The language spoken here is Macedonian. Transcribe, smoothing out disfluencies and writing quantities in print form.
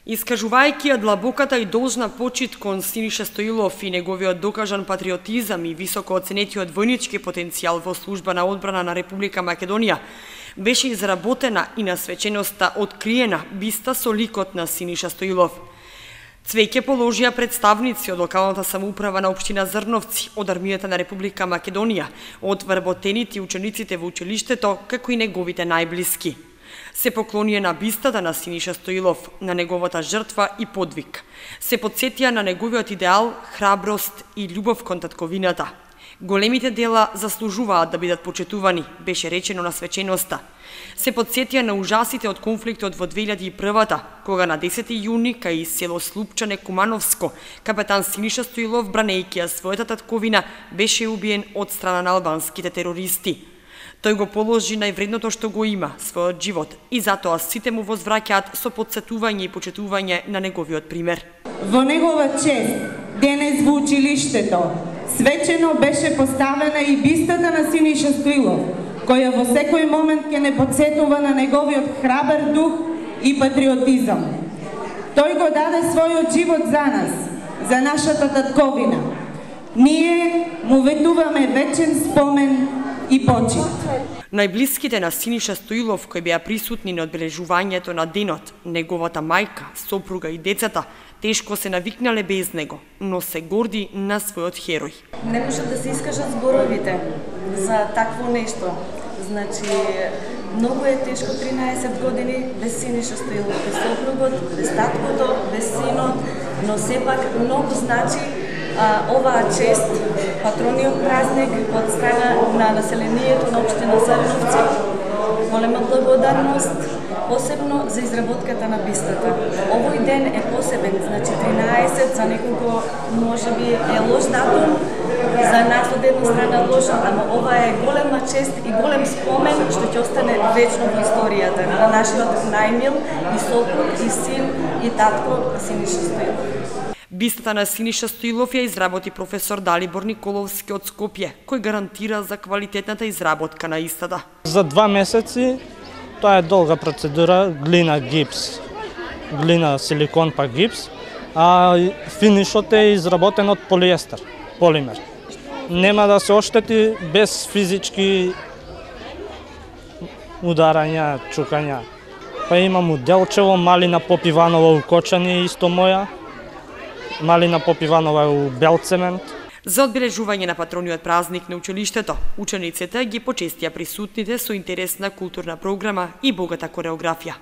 Искажувајќи ја длабоката и должна почит кон Синиша Стоилов и неговиот докажан патриотизам и високо оценетиот војнички потенцијал во служба на одбрана на Република Македонија, беше изработена и на свеченоста откриена биста со ликот на Синиша Стоилов. Цвеќе положија представници од локалната самоуправа на општина Зрновци, од армијата на Република Македонија, од вработените учениците во училиштето, како и неговите најблиски. Се поклонија на бистата на Синиша Стоилов, на неговата жртва и подвиг. Се подсетија на неговиот идеал, храброст и љубов кон татковината. Големите дела заслужуваат да бидат почитувани, беше речено на свеченоста. Се подсетија на ужасите од конфликтот во 2001-та, кога на 10 јуни кај село Слупчане, Кумановско, капетан Синиша Стоилов, бранејќи ја својата татковина, беше убиен од страна на албанските терористи. Тој го положи највредното што го има, својот живот, и затоа сите му возвраќаат со подсетување и почитување на неговиот пример. Во негова чест, денес во училиштето, свечено беше поставена и бистата на Синиша Стоилов, која во секој момент ќе не подсетува на неговиот храбар дух и патриотизам. Тој го даде својот живот за нас, за нашата татковина. Ние му ветуваме вечен спомен и почит. Најблиските на Синиша Стоилов, кои беа присутни на одбележувањето на денот, неговата мајка, сопруга и децата, тешко се навикнале без него, но се горди на својот херој. Не може да се искажат зборовите за такво нешто. Значи, многу е тешко 13 години без Синиша Стоилов, без сопругот, без таткото, без синот, но сепак многу значи оваа чест, патрониот празник од страна на населението на општина Зрновци. Голема благодарност, посебно за изработката на бистата. Овој ден е посебен, значи 13, за неколку можеби е лош датум, за нас од една страна лош, ама ова е голема чест и голем спомен што ќе остане вечно во историјата на нашиот најмил и сопруг, и син, и татко Синиша Стоилов. Бистата на Синиша Стоилов ја изработи професор Далибор Николовски од Скопје, кој гарантира за квалитетната изработка на истата. За 2 месеци, тоа е долга процедура, глина гипс, глина силикон па гипс, а финишот е изработен од полиестер, полимер. Нема да се оштети без физички ударања, чукања. Па имам Делчево, Малина Попиванова укочани, исто моја, Малина Попиванова у Белцемент. За одбележување на патрониот празник на училиштето, учениците ги почестија присутните со интересна културна програма и богата кореографија.